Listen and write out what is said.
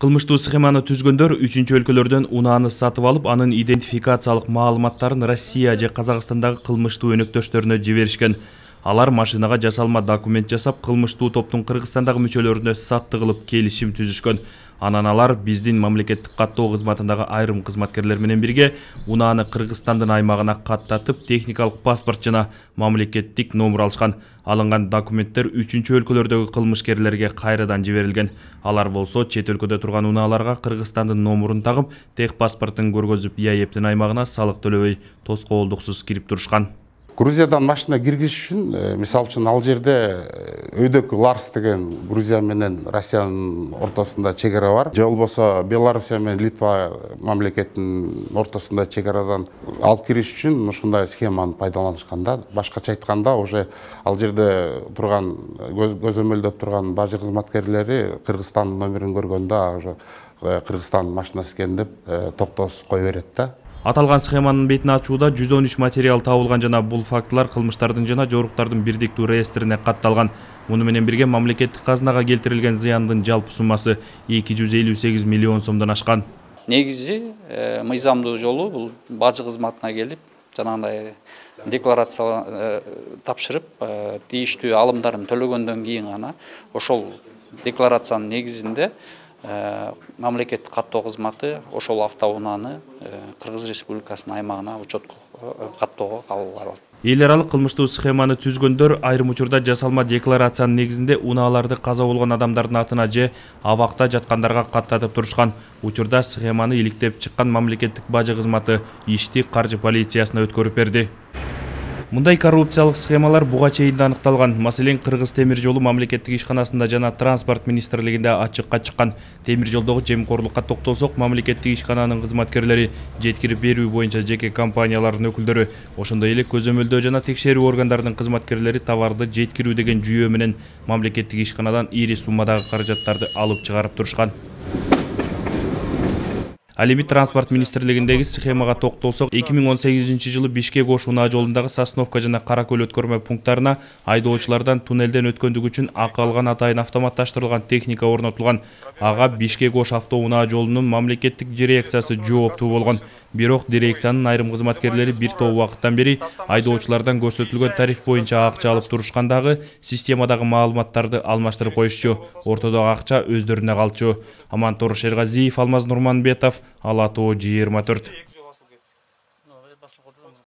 Кылмыштуу схеманы түзгөндөр үчүнчү өлкөлөрдөн унааны сатып алып, анын идентификациялык маалыматтарын Россия же Казакстандагы кылмыштуу өнөктөштөрүнө жиберишкен. Алар машинага жасалма документ жасап, кылмыштуу топтун Кыргызстандагы мүчөлөрүнө сатты кылып келишим түзүшкөн. Анан алар биздин мамлекеттик каттоо кызматындагы айрым кызматкерлер менен бирге унааны Кыргызстандын аймагына каттатып, техникалык паспорт жана мамлекеттик номер алышкан. Алынган документтер үчүнчү өлкөлөрдөгү кылмышкерлерге кайрадан жиберилген. Алар болсо чет өлкөдө турган унааларга Кыргызстандын номерун тагып, тех паспортун көргөзүп, ЯЭПтин аймагына салык төлөбөй тоскоолдуксуз кирип турушкан. Грузиядан машина киргизиш үчүн, мисалы үчүн, ал жерде өйдөкү Ларс деген Грузия менен Россиянын ортосунда чегара бар. Же болбосо Белоруссия менен Литва мамлекетинин ортосунда чегарадан алып кириш үчүн ушундай схеманы пайдаланышкан да. Башкача айтканда, уже ал жерде турган көзөмөлдөп турган бажы кызматкерлери Кыргызстандын номерин көргөндө уже Кыргызстандын машинасы экен деп токтоосуз кое берет да. Аталган схеманын бетин ачууда 113 материал табылган жана бул фактылар кылмыштардын жана жоруктардын бирдиктүү реестрине катталган. Муну менен бирге мамлекеттик казынага келтирилген зыяндын жалпы суммасы 258 миллион сомдон ашкан. Негизи мыйзамдуу жолу бул бажы кызматына келип, жанагындай декларация тапшырып, тийиштүү алымдарын төлөгөндөн кийин гана ошол декларациянын негизинде мамлекеттик каттоо кызматы ошол автоунааны Кыргыз Республикасынын аймагына учетко каттоого кабыл алат. Эл аралык кылмыштуу схеманы түзгөндөр айрым учурда жасалма декларациянын негизинде унааларды каза болгон адамдардын атына же абакта жаткандарга каттатып турушкан. Учурда схеманы иликтеп чыккан мамлекеттик бажы кызматы ишти каржы полициясына өткөрүп берди. Мындай коррупциялык схемалар буга чейин да аныкталган. Маселен, Кыргыз темир жолу мамлекеттик ишканасында жана транспорт министрлигинде ачыкка чыккан. Темир жолдогу жемкорлукка токтолсок, мамлекеттик ишкананын кызматкерлери, жеткирип берүү боюнча жеке компаниялардын өкүлдөрү, ошондой эле көзөмөлдөө жана текшерүү органдарынын кызматкерлери товарды жеткирүү деген жүйө менен мамлекеттик ишканадан ири суммадагы каражаттарды алып чыгарып турушкан. Ал эми транспорт министрлигиндеги схемага токтолсок, 2018-жылы Бишкек-Ош унаа жолундагы Сосновка жана Каракөл өткөрмө пункттарына айдоочулардан туннелден өткөндүгү үчүн акы алган атайын автоматташтырылган техника орнотулган. Ага Бишкек-Ош авто унаа жолунун мамлекеттик дирекциясы жооптуу болгон. Бирок дирекциянын айрым кызматкерлери бир топ убакыттан бери айдоочулардан көрсөтүлгөн тариф боюнча акча алып турушкандагы системадагы маалыматтарды алмаштырып коюшчу. Ортодогу акча өздөрүнө калчу. Амантор Шергазиев, Алмаз Нурманбетов, Ала Тоо 24.